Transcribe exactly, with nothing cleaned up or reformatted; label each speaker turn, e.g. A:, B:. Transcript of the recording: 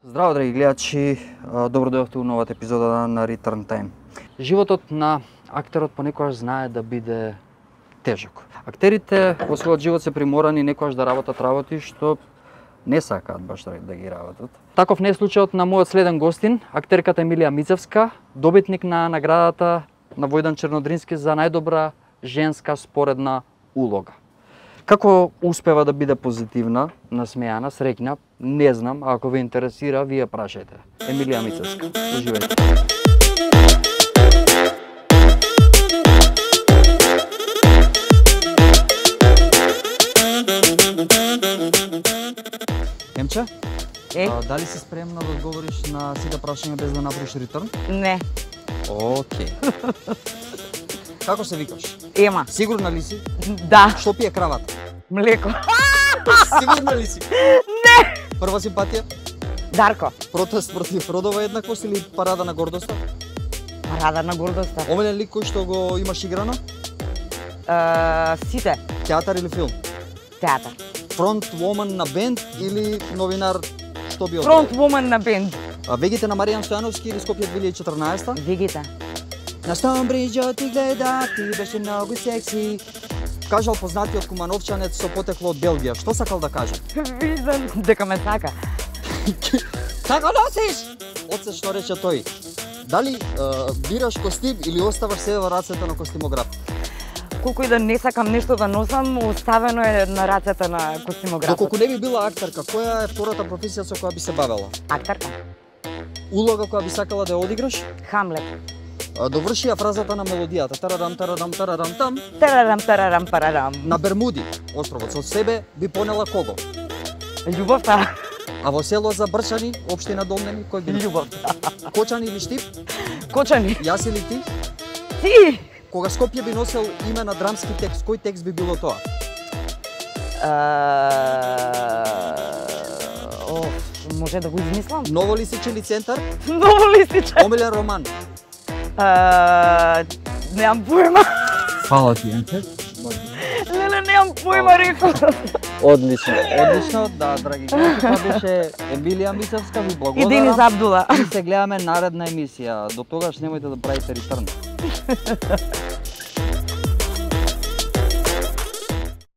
A: Здраво, драги гледачи, добро дојдовте у новата епизода на Return Time. Животот на актерот понекогаш знае да биде тежок. Актерите во својот живот се приморани некогаш да работат работи што не сакаат баш да ги работат. Таков не е случајот на мојот следен гостин, актерката Емилија Мицевска, добитник на наградата на Војдан Чернодрински за најдобра женска споредна улога. Како успева да биде позитивна, насмејана, среќна, не знам, а ако ве интересира, вие прашајте. Емилија Мицевска, уживајте. Емче,
B: Е?
A: а, дали си спремна да одговориш на сите прашања без да направиш реturn?
B: Не.
A: Океј. Како се викаш?
B: Ема.
A: Сигурна ли си?
B: Да.
A: Што пие кравата?
B: Млеко.
A: Сигурна ли си?
B: Не.
A: Прва симпатија?
B: Дарко.
A: Протест против родова еднаквост или парада на гордоста?
B: Парада на гордоста.
A: Омилен лик кој што го имаш играно?
B: Uh, сите.
A: Театар или филм?
B: Театар.
A: Фронт вумен на бенд или новинар, што би
B: Фронт вумен на бенд.
A: А вегите на Маријан Стојановски или Скопје две илјади и четрнаесета?
B: Вегите.
A: На Стомбриџот ти гледа, ти беше многу секси. Кажал познатиот кумановчанец со потекло од Белгија. Што сакал да каже?
B: Виждам дека ме сака.
A: Како носиш? Оце што рече тој. Дали е, бираш костим или оставаш себе во рацете на костимограф?
B: Колку и да не сакам нешто да носам, оставено е на рацете на костимографот.
A: Доколку не би била актерка, која е втората професија со која би се бавела?
B: Актерка.
A: Улога која би сакала да ја одиграш?
B: Хамлет.
A: А, доврши ја фразата на мелодијата. Тарарам, тарадам, тарадам, там.
B: Тарарам, тарарам, парарам.
A: На Бермуди, островот, со себе би понела кого?
B: Љубовта.
A: А во село за Брчани, општина Долнени, кој би?
B: Љубовта.
A: Кочани или Штип?
B: Кочани.
A: Јас или ти?
B: Ти.
A: Кога Скопје би носел име на драмски текст, кој текст би било тоа?
B: О, може да го измислам?
A: Ново лисичен центар?
B: Ново листиче.
A: Омилен роман?
B: Немам појма.
A: Фала ти, Енче.
B: Леле, немам појма, рекол.
A: Одлично, одлично, да, драги гледачи, тоа беше Емилија Мицевска, ви
B: И
A: благодарам.
B: Денис Абдула.
A: И се гледаме наредна емисија. До тогаш немојте да правите реturn.